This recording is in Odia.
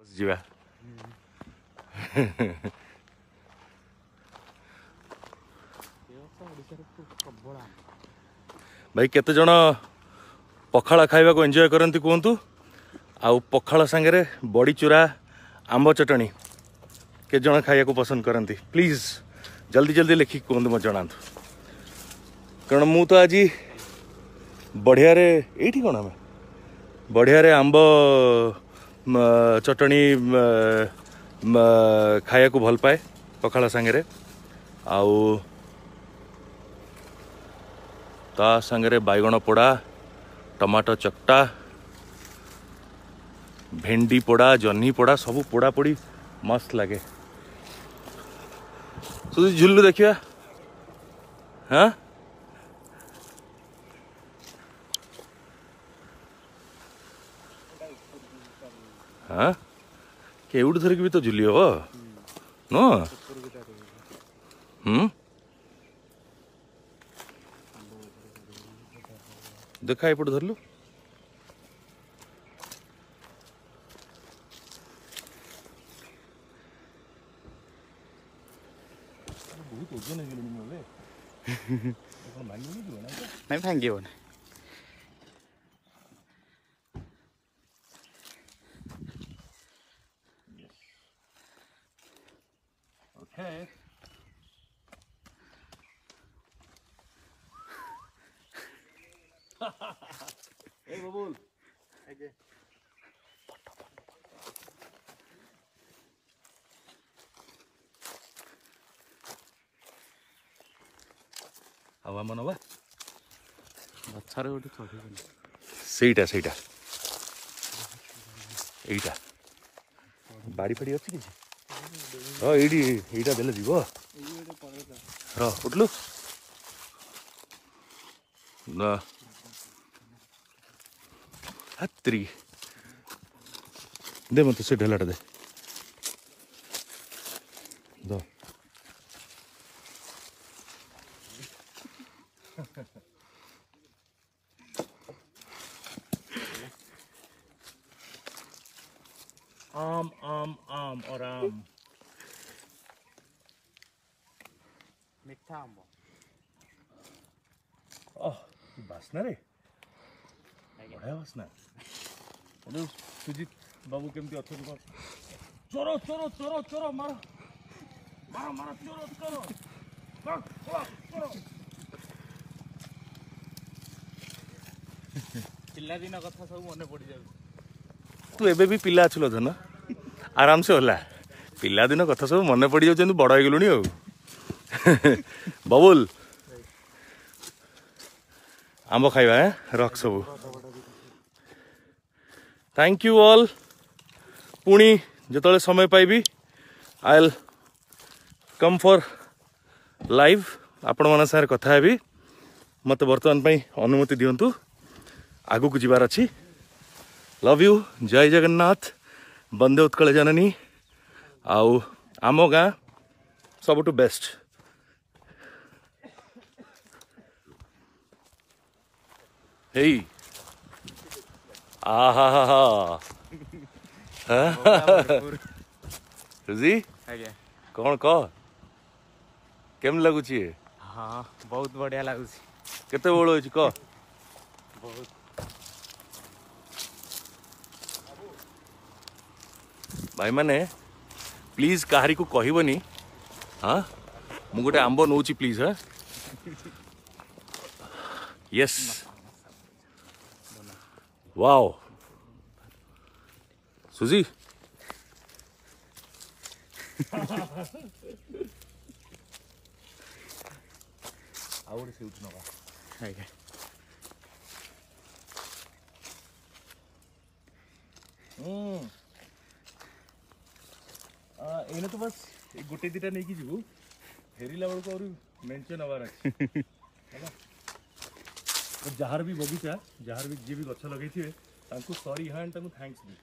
ଯିବା। ଭାଇ, କେତେ ଜଣ ପଖାଳ ଖାଇବାକୁ ଏନ୍ଜୟ କରନ୍ତି କୁହନ୍ତୁ? ଆଉ ପଖାଳ ସାଙ୍ଗରେ ବଡ଼ି ଚୁରା, ଆମ୍ବ ଚଟଣି କେତେ ଜଣ ଖାଇବାକୁ ପସନ୍ଦ କରନ୍ତି? ପ୍ଲିଜ୍ ଜଲ୍ଦି ଜଲ୍ଦି ଲେଖିକି କୁହନ୍ତୁ, ମୋତେ ଜଣାନ୍ତୁ। କାରଣ ମୁଁ ତ ଆଜି ବଢ଼ିଆରେ ଏଇଠି କ'ଣ ଆମେ ବଢ଼ିଆରେ ଆମ୍ବ ଚଟଣି ଖାଇବାକୁ ଭଲ ପାଏ ପଖାଳ ସାଙ୍ଗରେ, ଆଉ ତା ସାଙ୍ଗରେ ବାଇଗଣ ପୋଡ଼ା, ଟମାଟୋ ଚକଟା, ଭେଣ୍ଡି ପୋଡ଼ା, ଜହ୍ନି ପୋଡ଼ା, ସବୁ ପୋଡ଼ା ପୋଡ଼ି ମସ୍ତ ଲାଗେ। ଝୁଲୁ ଦେଖିବା। ହଁ ହଁ, କେଉଁଠୁ ଧରିକି ବି ତ ଝୁଲି ହବ ନୁହଁ? ହୁଁ, ଦେଖା, ଏପଟେ ଧରିଲୁ। ବହୁତ ଓଜନ ହେଇଗଲେଣି ମୁଁ ଏବେ। କ'ଣ ଭାଙ୍ଗିବନି? ନାଇଁ, ଭାଙ୍ଗିବନି। Okay. Hey, Babul. ଆଜ୍ଞା। ଆଉ ଆମ ନବା ଗଛରେ ଗୋଟେ ଚଢ଼ିବନି। ସେଇଟା ସେଇଟା ଏଇଟା ବାଡ଼ି ଫାଡ଼ି ଅଛି କିଛି? ହଁ, ଏଇଠି ଏଇଟା ଦେଲେ ଯିବ। ର, ଉଠଲୁ ନା ହାତ୍ରି। ଦେ ମୋତେ ସେ ଢେଲାଟା ଦେ ଦ। आम आम आम और आम। ମିଠା ଆମ୍ବ। ଓହ, କି ବାସ୍ନା ରେ, ବଢ଼ିଆ ବାସ୍ନା। ସୁଜିତ ବାବୁ କେମିତି ଅଛନ୍ତି? କଣ ଚୋର ଚୋର ଚୋର ଚୋର, ମାର ମାର ମାର, ଚୋର ଚୋର ଚୋର। ପିଲାଦିନ କଥା ସବୁ ମନେ ପଡ଼ିଯାଉଛି। ତୁ ଏବେ ବି ପିଲା ଅଛୁ ଲୋ ଧନ, ଆରାମସେ ହେଲା। ପିଲାଦିନ କଥା ସବୁ ମନେ ପଡ଼ିଯାଉଛନ୍ତି, ବଡ଼ ହେଇଗଲୁଣି। ଆଉ ବବୁଲ, ଆମ୍ବ ଖାଇବା ରଖ ସବୁ। Thank you all. ପୁଣି ଯେତେବେଳେ ସମୟ ପାଇବି, I will come for live, ଆପଣମାନଙ୍କ ସାଙ୍ଗରେ କଥା ହେବି। ମୋତେ ବର୍ତ୍ତମାନ ପାଇଁ ଅନୁମତି ଦିଅନ୍ତୁ, ଆଗକୁ ଯିବାର ଅଛି। ଲଭ୍ you, ଜୟ ଜଗନ୍ନାଥ, ବନ୍ଦେ ଉତ୍କଳ ଜନନୀ। ଆଉ ଆମ ଗାଁ ସବୁଠୁ ବେଷ୍ଟ। ହେଇ, ଆହା ହା, ସୁଜି। ଆଜ୍ଞା। କ'ଣ କହ, କେମିତି ଲାଗୁଛି? ହଁ, ବହୁତ ବଢିଆ ଲାଗୁଛି। କେତେ ବଳ ହେଇଛି କହ? ବହୁତ। ଭାଇମାନେ, ପ୍ଲିଜ୍ କାହାରିକୁ କହିବନି। ହଁ, ମୁଁ ଗୋଟେ ଆମ୍ବ ନେଉଛି, ପ୍ଲିଜ୍। ହଁ, ୟେସ୍, ୱାଓ ସୁଜି। ଆଉ ଗୋଟେ ସେଇଠୁ ନେବା। ଆଜ୍ଞା। ଏଇନେ ତ ବାସ୍ ଏଇ ଗୋଟେ ଦିଟା ନେଇକି ଯିବୁ, ଫେରିଲା ବେଳକୁ ଆହୁରି ମେଞ୍ଚେ ନେବାର ଅଛି। ହେଲା, ଯାହାର ବି ବଗିଚା, ଯାହାର ବି ଯିଏ ବି ଗଛ ଲଗେଇଥିବେ, ତାଙ୍କୁ ସରି ହ୍ୟାଣ୍ଡ, ତାଙ୍କୁ thanks ବି।